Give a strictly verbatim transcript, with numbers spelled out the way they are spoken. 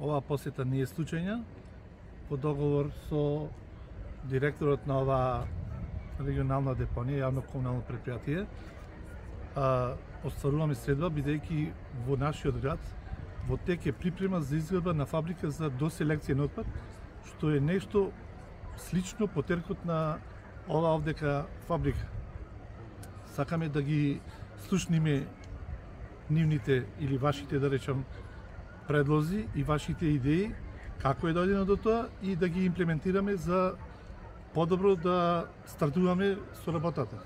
Оваа посета не е случајна. По договор со директорот на оваа регионална депонија, јавно комунално предпријатие, остваруваме средства, бидејќи во нашиот град во тек е припрема за изградба на фабрика за доселекција на отпад, што е нешто слично по теркот на ова овдека фабрика. Сакаме да ги слушниме нивните или вашите, да речам, предлози и вашите идеи, како е дојдено до тоа и да ги имплементираме за подобро да стартуваме со работата.